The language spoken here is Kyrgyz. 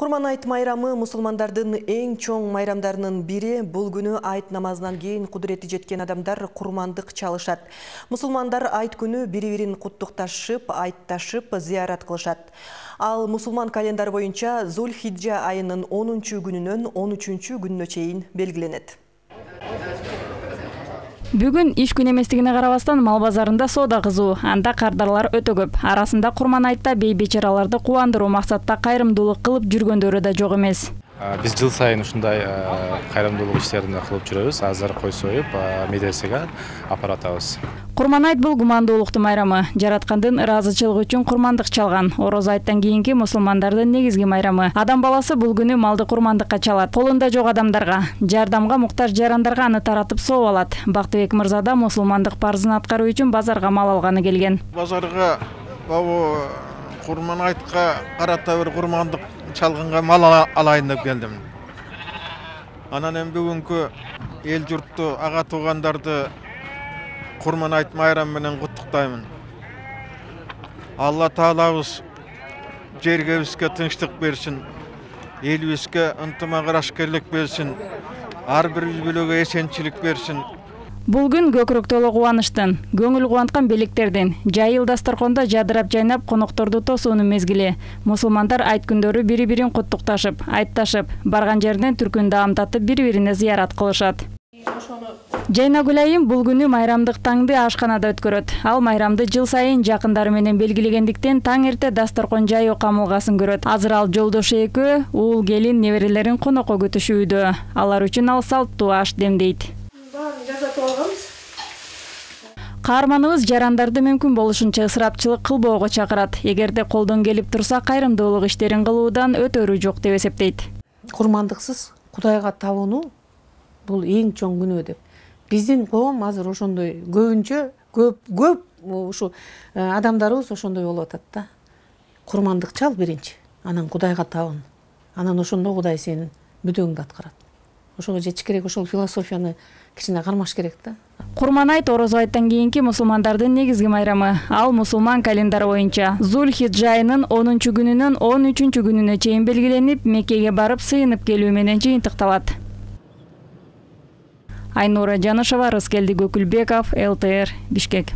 Курман айт майрамы мусулмандардын эң чоң майрамдарынын бири. Бул күнү айт намазынан кийин кудурети жеткен адамдар курмандык чалышат. Мусулмандар айт күнү бири-бирин куттукташып, айтташып, зыярат кылышат. Ал мусулман календары боюнча Зулхиджа айынын 10-күнүнөн 13-күнүнө чейин белгиленет. Бүгүн иш күн эместигине карабастан мал базарында соода кызуу, анда кардарлар өтө көп. Арасында курман айтта бей-бечараларды кубандыруу максатта кайрымдуулук кылып жүргөндөрү да жок эмес. Биз жыл сайын ушундай кайрымдуулук иштерин кылып жүрөбүз. Азыр кой союп, медресеге апаратабыз. Курман айт бул гумандуулуктун майрамы. Жараткандын ыраазычылыгы үчүн курмандык чалган. Ороз айттан кийинки мусулмандардын негизги майрамы. Адам баласы бул күнү малды курмандыкка чалат. Колунда жок адамдарга, жардамга муктаж жарандарга аны таратып сооп алат. Бактыбек мырза да мусулмандык парзын аткаруу үчүн базарга мал алганы келген. Базарга курман айтка карата бир курмандык чалганга мал алайын деп келдим. Анан эми бүгүнкү эл журтту, ага туугандарды курман айт майрамы менен куттуктаймын. Алла таалабыз жергебизге тынчтык берсин, элибизге ынтымак-ырашкерлик берсин, ар бир үй бүлөгө эсенчилик берсин. Бул күн көкүрөк толо кубанычтын, көңүл кубанткан белектердин, жайыл дасторкондо жадырап жайнап конокторду тосуунун мезгили. Мусулмандар айт күндөрү бири-бирин куттукташып, айтташып, барган жеринен түркүн даамдатып бири-бирине зыярат кылышат. Жайнагүл айым бул күнү майрамдык таңды ашканада өткөрөт. Ал майрамды жыл сайын жакындары менен белгилегендиктен таң эрте дасторкон жайуу камылгасын көрөт. Азыр ал жолдошу экөө уул келин неберелерин конокко күтүшүүдө. Алар үчүн ал салттуу аш демдейт. Каарманыбыз жарандарды мүмкүн болушунча ысырапчылык кылбоого чакырат. Эгерде колдон келип турса, кайрымдуулук иштерин кылуудан өтөрү жок деп эсептейт. Курмандыксыз Кудайга табынуу бул эң чоң күнөө деп. Биздин коом азыр ошондой көп ушу адамдарыбыз ошондой болуп атат да. Курмандык чал биринчи, анан Кудайга табын. Анан ошондо Кудай сенин мүдөөңдү аткарат. Ошого жетиш керек, ошол философияны кичине кармаш керек да. Курман айт Ороз айттан кийинки мусулмандардын негизги майрамы. Ал мусулман календары боюнча Зулхиджа айынын 10-күнүнөн 13-күнүнө чейин белгиленип, Меккеге барып сыйынып келүү менен жыйынтыкталат. Айнура Жанышева, Рыскелди Көкүлбеков, ЛТР, Бишкек.